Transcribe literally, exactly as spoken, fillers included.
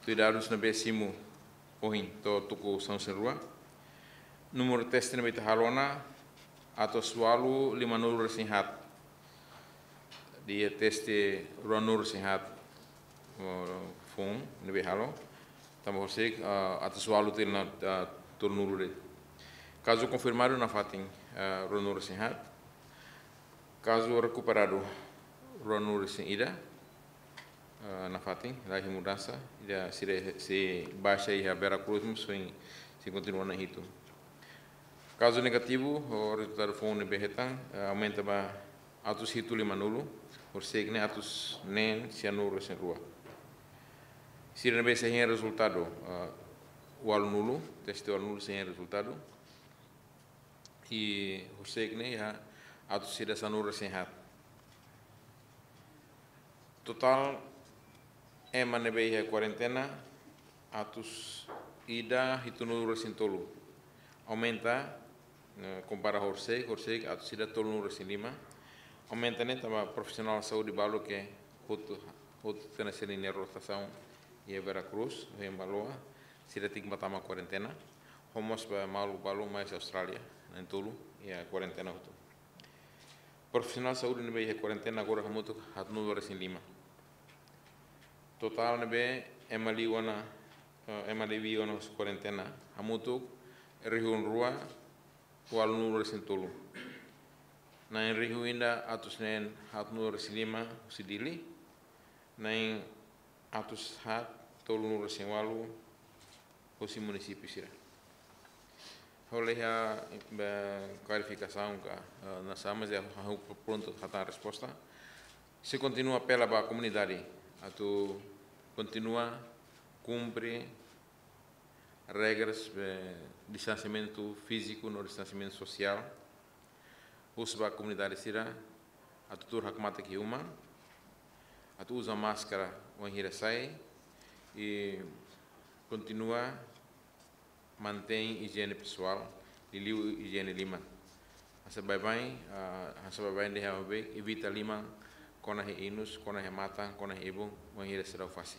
Tuir dadus ne'ebé simu ohin to'o tuku sanulu-resin-rua, númeru teste ne'ebé ita halo ona atus ualu lima-nulu-resin-haat. Iha teste ruanulu-resin-haat, eh, foun ne'ebé halo, tanba horiseik, eh, atus ualu tiha ona, eh, tolunulu de'it. Kazu konfirmadu nafatin, eh, ruanulu-resin-haat. Kazu rekuperadu ruanulu-resin-ida, eh, nafatin, laiha mudansa, ida sira sei baixa iha Vera Cruz, mas sei, sei kontinua ona hitu. Kazu negativu, ho rezultadu foun ne'ebé hetan, eh, aumenta ba atus hitu lima-nulu, horiseik ne'e atus neen sia-nulu-resin-rua. Sira ne'ebé sei hein rezultadu, eh, ualu-nulu, teste ualu-nulu sei hein rezultadu. I horiseik ne'e iha atus ida sanulu-resin-haat. Totál ema ne'ebé iha kuarentena atus ida hitu-nulu-resin-tolu. Aumenta, eh, kompara horiseik, horiseik atus ida tolu-nulu-resin-lima. Aumenta ne'e tanba profisionál saúde balu ke hotu, hotu tiha ona sira-nia rotasaun iha Vera Cruz, iha Baloa, sira tenke ba tama kuarentena. Ho mós ba maluk balu mai husi Austrália, na'in-tolu iha kuarentena hotu. Profisionál saúde ne'ebé iha kuarentena agora hamutuk haat-nulu-resin-lima. Totál ne'ebé ema liu ona, eh, ema liu ona husi kuarentena hamutuk rihun rua ualu-nulu-resin-tolu. Na'in rihun ida atus neen haat-nulu-resin-lima husi Dili, na'in atus haat tolu-nulu-resin-ualu husi munisípiu sira. Ha'u la iha, eh, klarifikasaun ka, eh, nusá, mas ha'u prontu hatán resposta. Sei kontinua apela ba komunidade atu kontinua kumpre regras, eh, distansiamentu fíziku no distansiamentu sosiál. Husu ba komunidade sira atu tuur hakmatek iha uma, atu uza máskara wainhira sai, i kontinua mantein ijiene pesoál, liuliu ijiene liman. Hanesan baibain, ah, hanesan baibain dehan ha'u bá evita liman kona iha inus, kona iha matan, kona iha ibun, wainhira seidauk fase.